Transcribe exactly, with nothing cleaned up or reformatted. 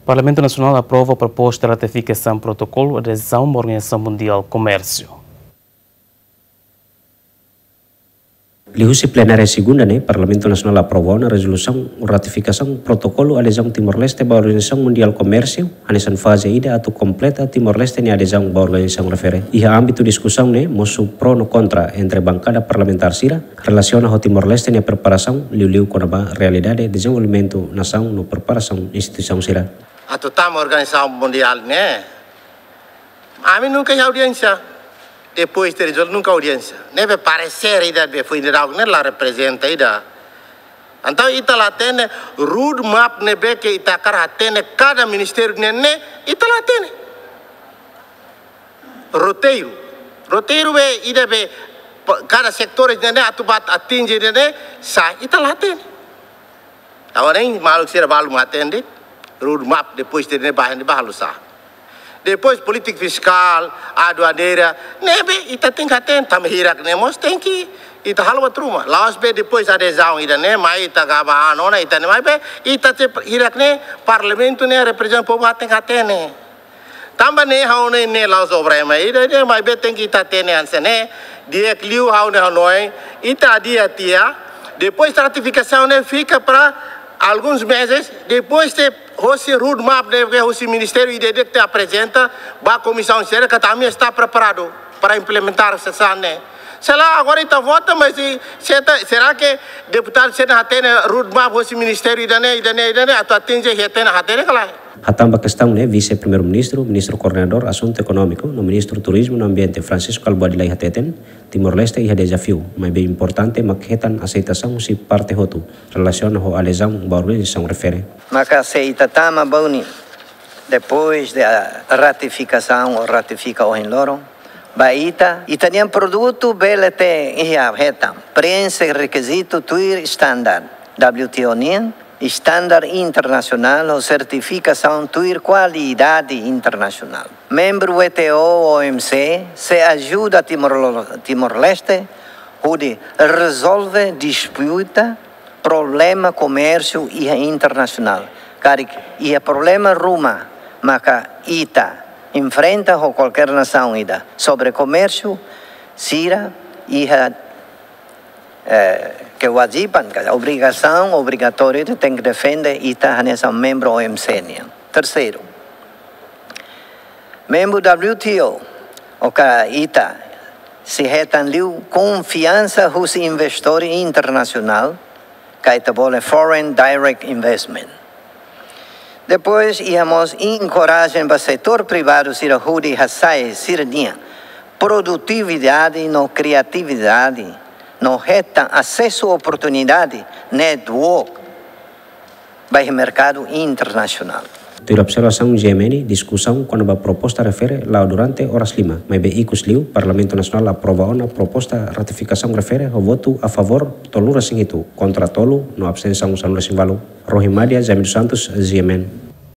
Parlamentu Nasionál aprova proposta ratifikasaun protokolu adezaun ba Organizasaun Mundiál Komérsiu. Liuhusi plenária segunda ne'e, Parlamentu Nasionál aprova ona rezolusaun ratifikasaun protokolu adezaun Timor-Leste ba Organizasaun Mundiál Komérsiu, hanesan faze ida atu kompleta Timor-Leste nia adezaun ba organizasaun refere. Iha ámbitu diskusaun ne'e, mosu pro no kontra entre bankada parlamentár sira, relasiona ho Timor-Leste nia preparasaun, liuliu kona-ba realidade dezenvolvimentu nasaun no preparasaun instituisaun sira. Atu tama Organizasaun Mundiál ne'e, ami nunka iha audiénsia. Depois de rezolve nunka audiénsia. Ne'ebé paresér ida be foin daudauk ne'e la reprezenta ida. Entaun ita la hatene roadmap ne'ebé ke ita hakarak hatene kada ministériu ne'e, ne'e ita la hatene. Roteiru. Roteiru be ida be pa-, kada setór ne'e, ne'e atu bá atinje ne'e, ne'e sá ita la hatene. Agora ne'e maluk sira balu mak hatene roadmap, depois de ne'e ba, ne'e balu sá. Depois polítika fiskál, aduaneira, ne'ebé ita tenke hatene, tanba hirak ne'e mós tenke ita halo buat ruma. La'ós be depois adezaun ida-ne'e, mai ita gaba ano na ita-nia, maibé ita te hirak ne'e, parlamentu ne'e reprezenta povu, ita tenke hatene. Tanba ne'e ha'u ne'e, ne'e la'ós problema ida, ida, maibé tenke ita hatene hanesan ne'e, di'ak liu ha'u ne'e hanoin, ita adia tiha, depois ratifikasaun ne'e fika para alguns meses, depois de hosi roadmap ne'e, hosi ministériu ida-idak te aprezenta ba komisaun sira katak ami está preparadu para implementar sasán ne'e. Sei la, agora ita vota, mas se, se ta, será que deputadu sira hatene roadmap hosi ministériu ida-ne'e, ida-ne'e, ida-ne'e, atu atinje, hatene, hatene ka lae? Hatán ba kestaun ne'e, Vise-Primeiru-Ministru, Ministru Koordenadór Asuntu Ekonómiku, no Ministru Turizmu no Ambiente, Francisco Kalbuadi Lay hateten, Timor-Leste iha dezafiu, maibé importante mak hetan aseitasaun husi parte hotu, relasiona ho adezaun ba organizasaun refere. Maka se ita tama ba ne'e, depois de a ratifikasaun ou ratifika ohin loron, ba ita, ita-nia produtu bele te iha hetan, preenxe rekizitu tuir standar W T O nian, standar internasionál ou sertifikasaun tuir kualidade internasionál. Membru W T O, O M C, sei ajuda Timor, Timor-Leste, hodi rezolve disputa, problema komérsiu iha internasionál. Karik iha problema ruma maka ita enfrenta ho kualkér nasaun ida sobre komérsiu, sira iha, eh, kewajiban, ka obrigasaun, obrigatóriu, ita tenke defende ita hanesan membru O M C nian. Terseiru, membru W T O, oka ita sei hetan liu konfiansa husi investór internasionál, ka ita bolu foreign direct investment. Depois, iha mós enkorajen ba setór privadu sira hodi hasa'e sira-nia produtividade no kriatividade, no hetan asesu oportunidade, network, ba iha merkadu internasionál. Tuir observasaun G M N, diskusaun kona-ba proposta refere la'o durante oras lima, maibé ikus liu, Parlamentu Nasionál aprova ona proposta ratifikasaun refere ho votu a favór tolunulu-resin-hitu, kontra tolu, no abstensaun sanulu-resin-ualu. Rohi Madia, Jaime dos Santos, G M N.